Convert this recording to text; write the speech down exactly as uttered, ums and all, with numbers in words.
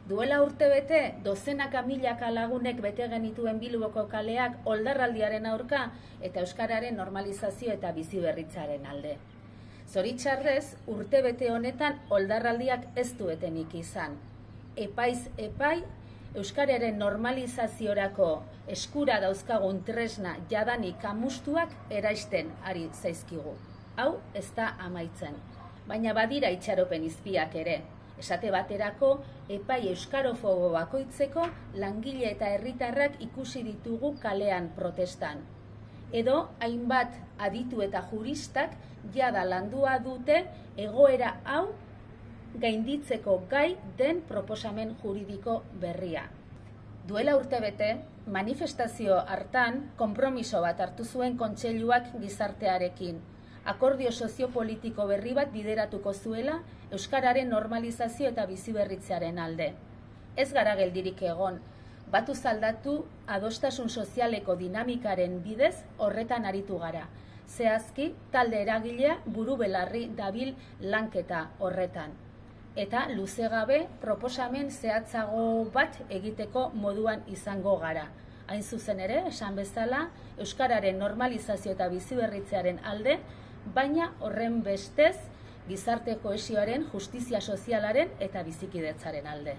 Duela urtebete, dozenaka milaka lagunek bete genituen Bilboko kaleak oldarraldiaren aurka eta euskararen normalizazio eta biziberritzaren alde. Zoritxarrez, urtebete honetan oldarraldiak ez duetenik izan. Epaiz epai, euskararen normalizaziorako eskura dauzkagun tresna jadanik amustuak eraisten ari zaizkigu. Hau ez da amaitzen, baina badira itxaropen izpiak ere. Esate baterako, epai euskarofobo bakoitzeko langile eta herritarrak ikusi ditugu kalean protestan. Edo, hainbat aditu eta juristak jada landua dute egoera hau gainditzeko gai den proposamen juridiko berria. Duela urtebete, manifestazio hartan konpromiso bat hartu zuen kontseiluak gizartearekin, akordio soziopolitiko berri bat bideratuko zuela euskararen normalizazio eta biziberritzearen alde. Ez gara geldirik egon, batu zaldatu adostasun sozialeko dinamikaren bidez horretan aritu gara. Zehazki, talde eragilea buru belarri dabil lanketa horretan. Eta luze gabe proposamen zehatzago bat egiteko moduan izango gara. Hain zuzen ere, esan bezala, euskararen normalizazio eta biziberritzearen alde, baina horren bestez gizarte kohesioaren, justizia sozialaren eta bizikidetzaren alde.